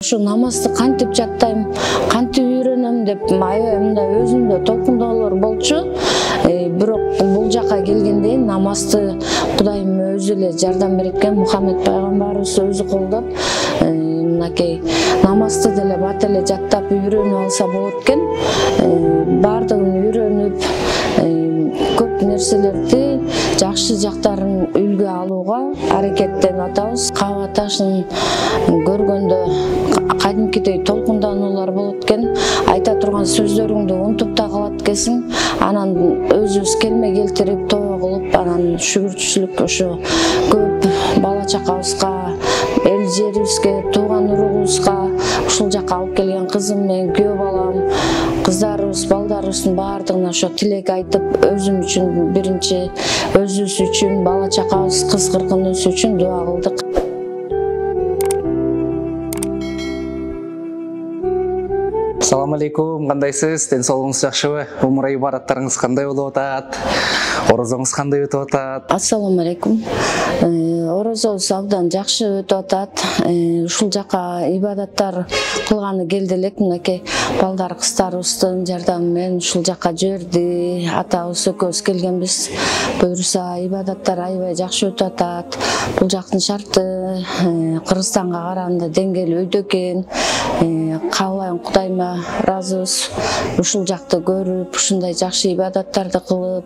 Ушу намазды кантип жаттайм, кантип үйрөнөм деп аябай мындай өзүмдө толкундоолор болчу. Бирок бул жака келгенде намазды Кудайым өзү эле жардам берет экен. Мухаммед пайгамбарыбыз өзү колдоп, мынакей намазды деле бат эле жаттап үйрөнүп алса болот экен. Бардыгын үйрөнүп, көп нерселерди жакшы жактарын үлгү алууга аракеттенип атабыз. Каба ташын көргөндө кадимкидей толкундануулар болот экен. Айта турган сөздөрүңдү унутуп да калат экенсиң. Анан өзүбүз келме келтирип тоо кылып, анан шүгүрчүчүлүк ошо көп бала чакабызга, эл жерибизге, тууган уругубузга ушул жака алып келген кызым менен күйөө балам, кыздарыбыз, балдарыбыздын баардыгына ошо тилек айтып, өзүм үчүн биринчи, өзүбүз үчүн, бала чакабыз, кыз кыргыныбыз үчүн дуа кылдык. Assalamu alaikum, кандайсыз? Ден соолугуңуз жакшыбы? Умра ибадаттарыңыз кандай болуп атат? Орозоңуз кандай өтүп атат? Ассаламу алейкум. Орозобуз абдан жакшы өтүп атат. Ушул жака ибадаттар кылганы келди элек. Мынакей балдар кыздарыбыздын жардамы менен ушул жака жиберди. Атабыз экөөбүз келгенбиз. Буюрса ибадаттар аябай жакшы өтүп атат. Бул жактын шарты Кыргызстанга караганда деңгээли өйдө экен. Каалайм Кудайыма ыраазыбыз. Ушул жакты көрүп, ушундай жакшы ибадаттарды кылып,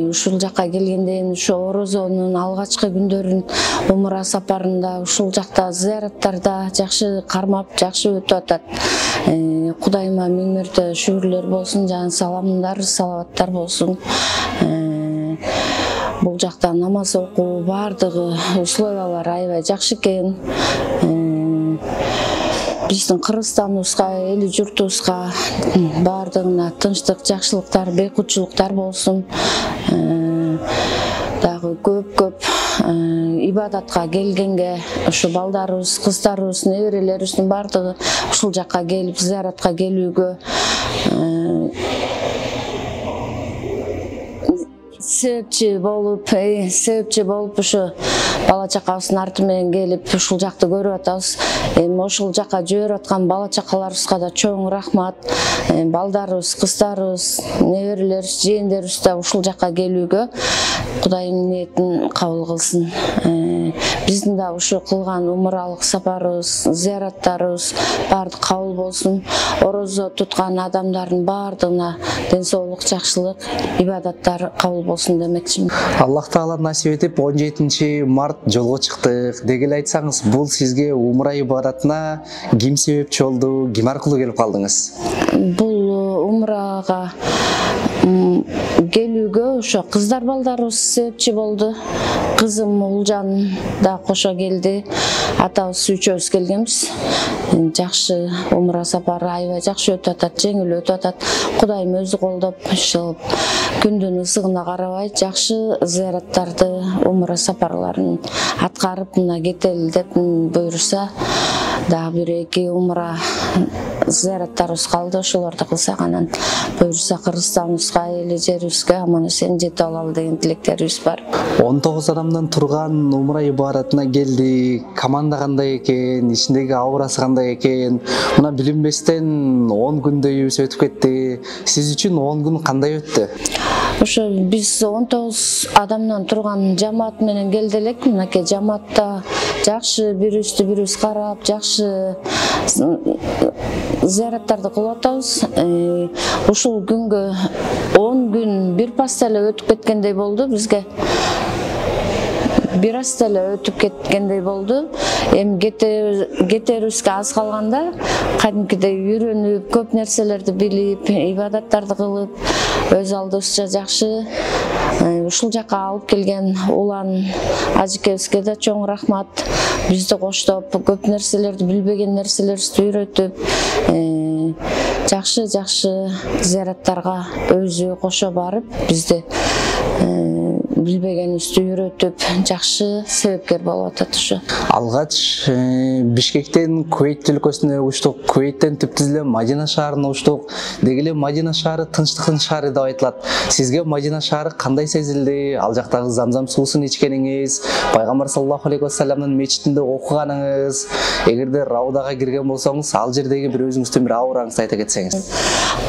ушул жака келгенден ошо Орозонун алгачкы күндөрүн умра сапарында ушул жакта зыяраттарда жакшы кармап, жакшы өтүп атат. Кудайыма миң мәртө шүгүрлөр болсун, жана саламдар, салаваттар болсун. Бул жакта намаз окуу баардыгы условиялар аябай жакшы экен. Биздин Кыргызстаныбызга, эли журтубузга баардыгына тынчтык, жакшылыктар, бейкутчулуктар болсун. Дагы көп ибадатка келгенге ушу балдарыбыз, кыздарыбыз, неберелерибиздин баардыгы ушул жака келип, зыяратка келүүгө себепчи болуп ушу бала чакабыздын арты менен келип ушул жакты көрүп атабыз. Эми ошол жака жиберип аткан бала чакаларыбызга да чоң рахмат. Балдарыбыз, кыздарыбыз, неберелерибиз, жээндерибиз да ушул жака келүүгө Кудайдын ниетин кабыл кылсын. Биздин да ушу кылган умралык сапарыбыз, зыяраттарыбыз баардык кабыл болсун. Орозо туткан адамдардын баардыгына ден соолук, жакшылык, ибадаттар кабыл болсун демекчимин. Аллах Таала насип этип 17 март жолго чыктык. Деги эле айтсаңыз, бул сизге умра ибадатына ким себепчи болду, ким аркылуу келип калдыңыз? Бул умрага келүүгө ошо кыздар балдарыбыз себепчи болду. Кызым Улжан да кошо келди. Атабыз үчөөбүз келгенбиз. Жакшы умра сапары аябай жакшы өтүп атат, жеңил өтүп атат. Кудайым өзү колдоп, ошол күндүн ысыгына карабай жакшы зыяраттарды, умра сапарларын аткарып мына кетели деп буйрса, дагы бир-эки умра зыяраттарыбыз калды. Ошолорду кылсак, анан буйрса Кыргызстаныбызга, эли жерибизге аман эсен жетип алалы деген тилектерибиз бар. 19 адамдан турган умра ибадатына келди. Команда кандай экен, ичиндеги аурасы кандай экен? Мына билинбестен 10 күндөйүбүз өтүп кетти. Сиз үчүн 10 күн кандай өттү? Ошо биз 19 адамдан турган жамаат менен келди элек. Мынакей жамаатта жакшы бирибизди бирибиз карап, жакшы зыяраттарды кылып атабыз. Ушул күнгө 10 күн бир пас эле өтүп кеткендей болду бизге. Бир аз эле өтүп кеткендей болду. Эми кетерибизге аз калганда кадимкидей үйрөнүп, көп нерселерди билип, ибадаттарды кылып, өз алдыбызча жакшы ушул жака алып келген улан ажекебизге да чоң рахмат. Бизди коштоп, көп нерселерди, билбеген нерселерибизди үйрөтүп, жакшы зыяраттарга өзү кошо барып, бизди билбегенибизди үйрөтүп жакшы себепкер болуп атат ушу. Алгач Бишкектен Кувейт өлкөсүнө учтук, Кувейттен түптүз эле Мадина шаарына учтук. Деги эле Мадина шаары тынчтыктын шаары деп айтылат. Сизге Мадина шаары кандай сезилди? Ал жактагы замзам суусун ичкениңиз, пайгамбар саллаллаху алейхи вассаламдын мечитинде окуганыңыз, эгерде Раудага кирген болсоңуз, ал жердеги бир өзүңүздүн бир аураңызды айта кетсеңиз.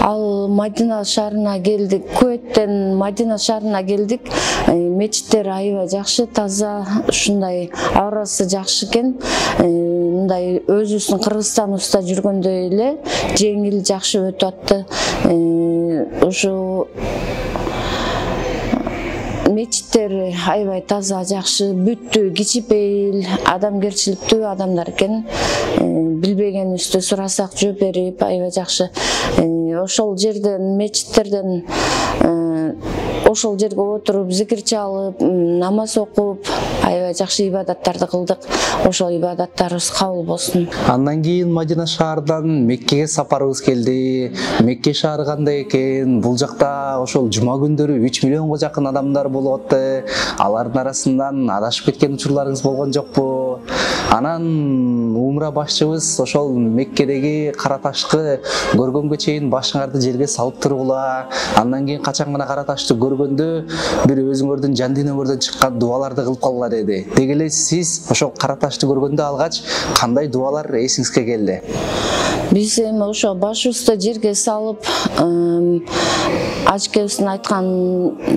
Ал Мадина шаарына келдик, Кувейттен Мадина шаарына келдик. Мечиттер аябай жакшы, таза, ушундай аурасы жакшы экен. Мындай өзүбүздүн Кыргызстаныбызда жүргөндөй эле жеңил, жакшы өтүп атты. Ушу мечиттер аябай таза, жакшы, бүттүү, кичипейил, адамгерчиликтүү адамдар экен. Билбегенибизди сурасак жооп берип, аябай жакшы. Ошол жерден, мечиттерден ошол жерге отуруп, зикир чалып, намаз окуп, аябай жакшы ибадаттарды кылдык. Ошол ибадаттарыбыз кабыл болсун. Андан кийин Мадина шаардан Меккеге сапарыбыз келди. Мекке шаары кандай экен? Бул жакта ошол жума күндөрү 3 миллионго жакын адамдар болуп атты. Алардын арасынан адашып кеткен учурларыңыз болгон жокпу? Анан умра башчыбыз ошол Меккедеги кара ташты көргөнгө чейин башыңарды жерге салып тургула. Андан кийин качан гана кара ташты көргөндө бир өзүңөрдүн жан дүйнөңөрдөн чыккан дуаларды кылып калгыла деди. Деги эле сиз ошол кара ташты көргөндө алгач кандай дуалар эсиңизге келди? Биз эми ошо башыбызды жерге салып, ажкебиздин айткан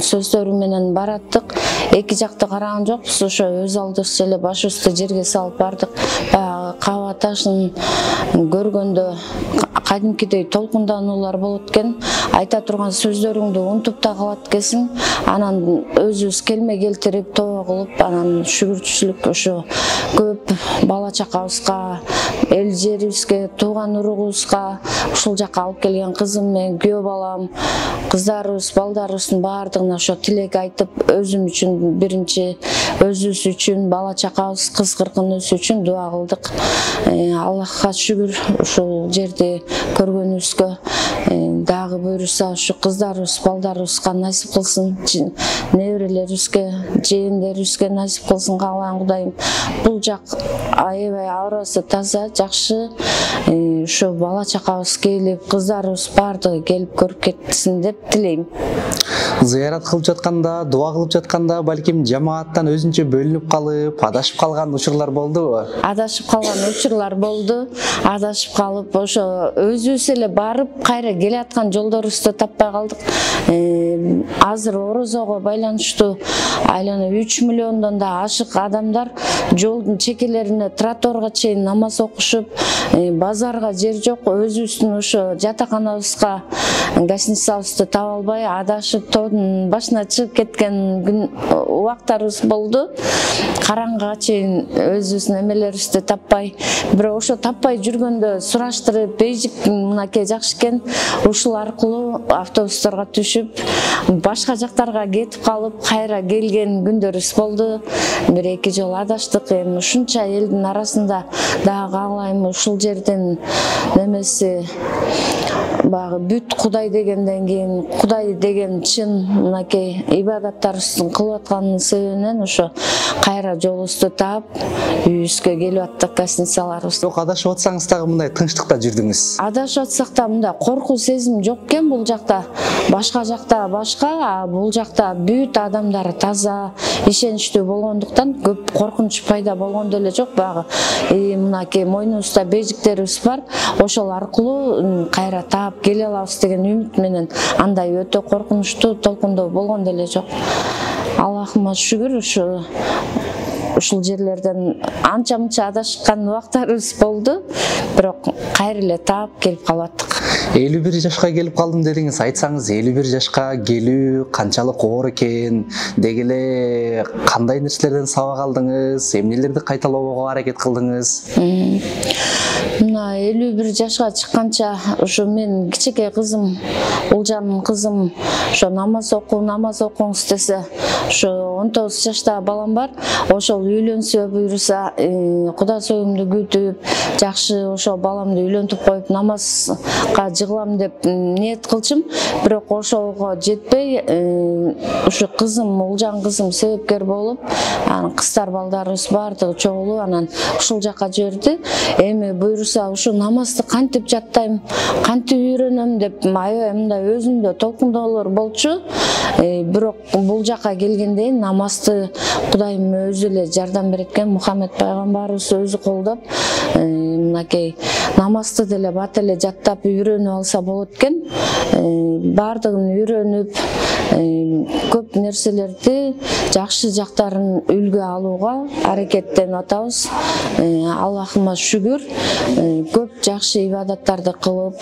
сөздөрү менен бараттык. Эки жакты караган жокпуз, ошо өз алдыбызча эле башыбызды жерге салып бардык. Баягы каба ташын көргөндө кадимкидей толкундануулар болот экен. Айта турган сөздөрүңдү унутуп да калат экенсиң. Анан өзүбүз келме келтирип, тоо кылып, анан шүгүрчүчүлүк ошо көп бала чакабызга, эл жерибизге, тууган уругубузга, ушул жакка алып келген кызым менен күйөө балам, кыздарыбыз, балдарыбыздын баардыгына ошо тилек айтып, өзүм үчүн биринчи, өзүбүз үчүн, бала чакабыз, кыз кыркыныбыз үчүн дуа кылдык. Аллахка шүгүр, ушул жерди көргөнүбүзгө, дагы буйруса ушу кыздарыбыз, балдарыбызга насип кылсын, неберелерибизге, жээндерибизге насип кылсын каалайм Кудайым. Бул жак аябай аурасы таза, жакшы. Ушу бала чакабыз келип, кыздарыбыз баардыгы келип көрүп кетсин деп тилейм. Зыярат кылып жатканда, дуа кылып жатканда балким жамааттан өзүнчө бөлүнүп калып, адашып калган учурлар болдубу? Адашып калган учурлар болду. Адашып калып, ошо өзүбүз эле барып, кайра келе аткан жолдорубузду таппай калдык. Азыр орозого байланыштуу айлана 3 миллиондон да ашык адамдар жолдун чекелерине, тротуарга чейин намаз окушуп, базарга жер жок, өзүбүздүн ошо жатаканабызга гостиницабызды таба албай, адашып тоодун башына чыгып кеткен убактарыбыз болду. Караңгыга чейин өзүбүздүн эмелерибизди таппай, бирок ошо таппай жүргөндө сураштырып, бейжик мынакей жакшы экен, ушул аркылуу автобустарга түшүп, башка жактарга кетип калып, кайра келген күндөрүбүз болду. Бир-эки жолу адаштык. Эми ушунча элдин арасында дагы каалайм ушул жердин немеси баягы бүт Кудай дегенден кийин, Кудай деген чын мынакей ибадаттарыбыздын кылып атканын себебинен ошо кайра жолубузду таап, үйүбүзгө келип аттык, гостиницаларыбыз. Бирок адашып атсаңыз дагы мындай тынчтыкта жүрдүңүз. Адашып атсак да мындай коркуу сезим жок экен бул жакта. Башка жакта башка, а бул жакта бүт адамдар таза, ишеничтүү болгондуктан көп коркунуч пайда болгондо эле жок. Баягы мынакей мойнубузда бейжиктерибиз бар, ошол аркылуу кайра таап келе алабыз деген үмүт менен, андай өтө коркунучтуу толкундоо болгондо эле жок. Аллахыма шүгүр, ушул жерлерден анча-мынча адашкан убактарыбыз болду, бирок кайра эле таап келип калаттык. 51 жашка келип калдым дедиңиз. Айтсаңыз, 51 жашка келүү канчалык оор экен? Деги эле кандай нерселерден сабак алдыңыз? Эмнелерди кайталоого аракет кылдыңыз? Мына 51 жашка чыкканча ошо мен кичике кызым, Улжан кызым ошо намаз окуңуз десе, ошо 19 жаштагы балам бар. Ошол үйлөнсө буйруса, Кудай союмду күтүп, жакшы ошо баламды үйлөнтүп коюп намазга жыгылам деп ниет кылчым. Бирок ошого жетпей, ушу кызым, Улжан кызым себепкер болуп, кыздар балдарыбыз бардыгы чогулуп, анан ушул жакка жиберди. Эми буйруса ушу намазды кантип жаттайм, кантип үйрөнөм деп аябай мындай өзүмдө толкундоолор болчу. Бирок бул жакка келгенде намазды Кудайым өзү эле жардам берет экен. Мухаммед пайгамбарыбыз өзү колдоп, мынакей намазды деле бат эле жаттап үйрөнүп алса болот экен. Бардыгын үйрөнүп, көп нерселерди, жакшы жактарын үлгү алууга аракеттенип атабыз. Аллахыма шүгүр, көп жакшы ибадаттарды кылып,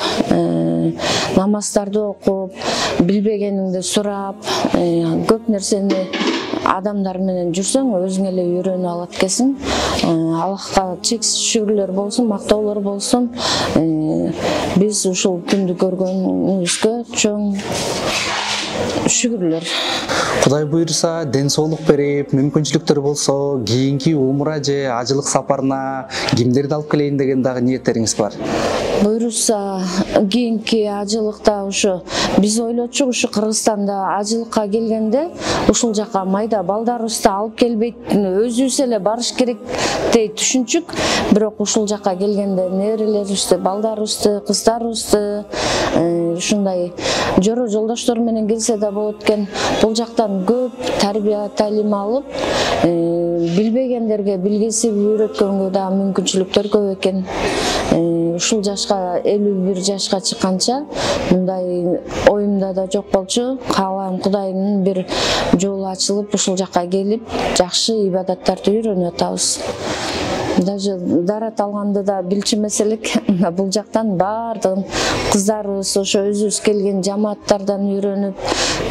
намаздарды окуп, билбегениңди сурап, көп нерсени адамдар менен жүрсөң өзүң эле үйрөнүп алат экенсиң. Аллахка чексиз шүгүрлөр болсун, мактоолор болсун. Биз ушул күндү көргөнүбүзгө чоң шүгүрлөр. Кудай буйруса, ден соолук берип, мүмкүнчүлүктөр болсо, кийинки умра же ажылык сапарына кимдерди алып келейин деген дагы ниеттериңиз бар? Буйруса, кийинки ажылыкта ушу биз ойлочук, ушу Кыргызстанда ажылыкка келгенде ушул жака майда балдарыбызды алып келбейт, өзүбүз эле барыш керек дей түшүнчүк. Бирок ушул жака келгенде неберелерибизди, балдарыбызды, кыздарыбызды ушундай жоро жолдоштор менен келсе да болот экен. Бул жактан көп тарбия талим алып, билбегендерге билгесип үйрөткөнгө да мүмкүнчүлүктөр көп экен. Ушул жашка 51 жашка чыкканча мындай оюмда да жок болчу. Каалайм Кудайдын бир жолу ачылып, ушул жака келип, жакшы ибадаттарды үйрөнүп атабыз. Даже дарат алганды да билчү эмес элек. Бул жактан бардыгын кыздарыбыз ошо өзүбүз келген жамааттардан үйрөнүп,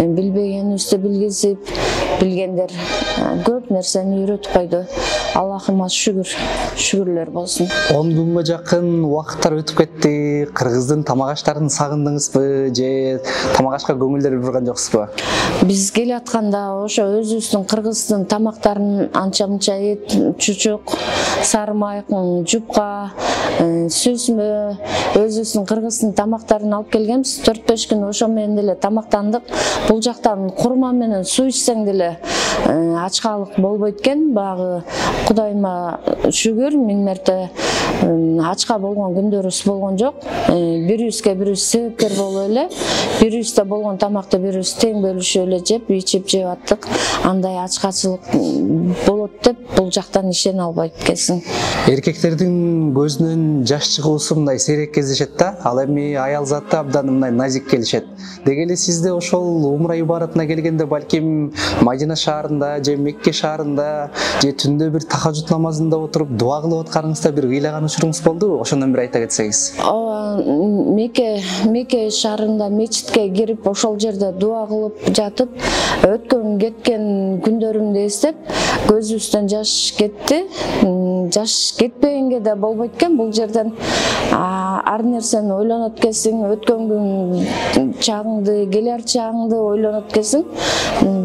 билбегенибизди билгизип, билгендер көп нерсени үйрөтүп койду. Аллахыма шүгүрлөр болсун. 10 күнгө жакын убакыттар өтүп кетти. Кыргыздын тамак аштарын сагындыңызбы же тамак ашка көңүлдөр бурган жоксузбу? Биз келатканда ошо өзүбүздүн кыргыздын тамактарын анча-мынча эт, чучук, сарымайк, жупка, сүзмө, өзүбүздүн кыргыздын тамактарын алып келгенбиз. 4-5 күн ошо менен деле тамактандык. Бул жактан курма менен суу ичсең деле ачкалык болбойт экен. Багы Кудайыма шүгүр, миң мерте ачка болгон күндөрүбүз болгон жок. Бирибизге бирибиз себепкер болуп эле, бирибизде болгон тамакты бирибиз тең бөлүшүп эле жеп, ичип жеп аттык. Андай ачкачылык болот деп бул жактан ишене албайт экенсиң. Эркектердин көзүнөн жаш чыгуусу мындай сейрек кездешет да, ал эми аял заты абдан мындай назик келишет. Деги эле сизде ошол умра ибаратына келгенде балким Мадина шаарында же Мекке шаарында же түндө бир тахажжуд намазында отуруп дуа кылып атканыңызда бир ыйлаган учуруңуз болдубу? Ошондон бир айта кетсеңиз. Мекке шаарында мечитке кирип, ошол жерде дуа кылып жатып, өткөн кеткен күндөрүмдү эстеп, көзүбүздөн жаш кетти. Жаш кетпегенге да болбойт экен. Бул жерден ар нерсени ойлонот экенсиң, өткөн күн чагыңды, келер чагыңды ойлонот экенсиң.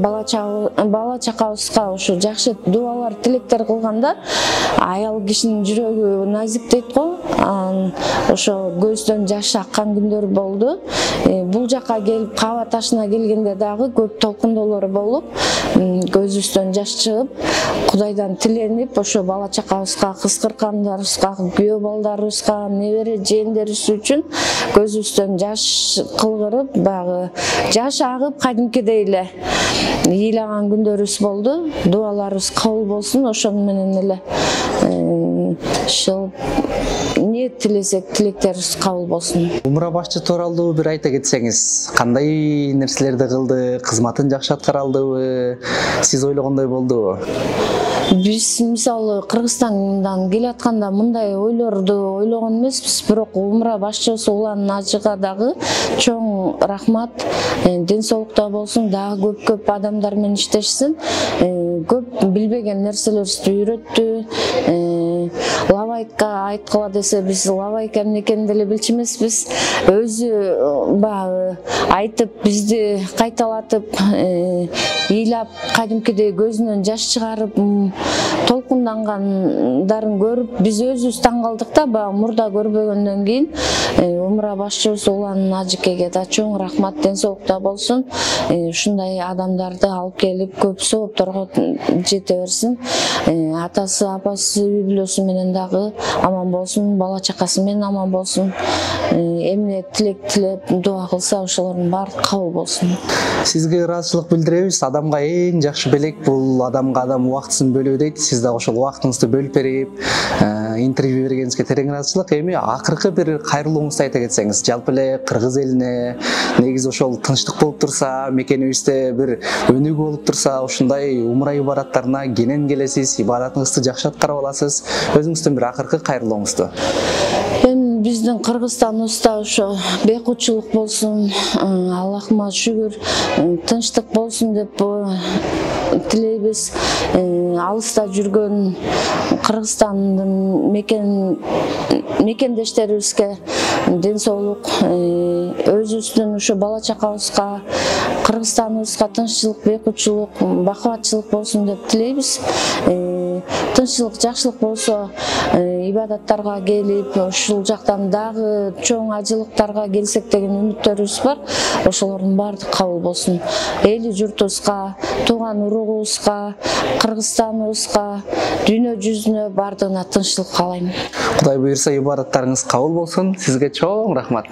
Бала чакабызга ушу жакшы дуалар, тилектер кылганда аял кишинин жүрөгү назик дейт го. Ошо көздөн жаш аккан күндөр болду. Бул жака келип, Каба ташына келгенде дагы көп толкундоолор болуп, көзүбүздөн жаш чыгып, Кудайдан тиленип, ошо бала чакабызга, кыз-кыркандарыбызга, күйөө балдарыбызга, небере жээндерибиз үчүн көзүбүздөн жаш кылгырып, багы жаш агып, кадимкидей эле ыйлаган күндөрүбүз болду. Дуаларыбыз кабыл болсун, ошону менен эле ниет тилесек, тилектерибиз кабыл болсун. Умра башчы тууралуу бир айта кетсеңиз, кандай нерселерди кылды, кызматын жакшы аткара алдыбы, сиз ойлогондой болдубу? Биз мисалы Кыргызстандан келатканда мындай ойлорду ойлогон эмеспиз, бирок умра башчысы Улан Ажыга дагы чоң рахмат. Ден соолукта болсун, дагы көп адамдар менен иштешсин. Көп билбеген нерселерибизди үйрөттү. Лавай лавайка айткыла десе биз лавайка эмне экенин деле билчү эмеспиз. Өзү баягы айтып бизди кайталатып, ыйлап, кадимкидей көзүнөн жаш чыгарып толкундангандарын көрүп биз өзүбүз таң калдык да. Баягы мурда көрбөгөндөн кийин Умура башчыбыз Улан Ажикеге да чоң рахмат, ден соолукта болсун. Ушундай адамдарды алып келип көп соопторго жете берсин. Атасы, апасы, үй бүлөсү менен дагы аман болсун, бала чакасы менен аман болсун. Эмне тилек тилеп дуа кылса ошолордун баары кабыл болсун. Сизге ыраазычылык билдиребиз. Адамга эң жакшы белек бул адамга адам убактысын бөлүү дейт. Сиз дагы ошол убактыңызды бөлүп берип, интервью бергениңизге терең ыраазычылык. Эми акыркы бир кайрылууңузду айта кетсеңиз, жалпы эле кыргыз элине негизи ошол тынчтык болуп турса, мекенибизде бир өнүгүү болуп турса, ушундай умра ибадаттарына кенен келесиз, ибадатыңызды жакшы аткарып аласыз. Өзүңүздүн бир акыркы кайрылууңузду. Эми биздин Кыргызстаныбызда ошо бейкутчулук болсун, Аллахыма шүгүр, тынчтык болсун деп тилейбиз. Алыста жүргөн Кыргызстандын мекендештерибизге ден соолук, өзүбүздүн ушу бала чакабызга, Кыргызстаныбызга тынччылык, бейкутчулук, бакубатчылык болсун деп тилейбиз. Тынччылык, жакшылык болсо, ибадаттарга келип, ушул жактан дагы чоң ажылыктарга келсек деген үмүттөрүбүз бар. Ошолордун баардыгы кабыл болсун. Эли журтубузга, тууган уругубузга, Кыргызстаныбызга, дүйнө жүзүнө баардыгына тынччылык каалайм. Кудай буйрса ибадаттарыңыз кабыл болсун. Сизге чоң рахмат.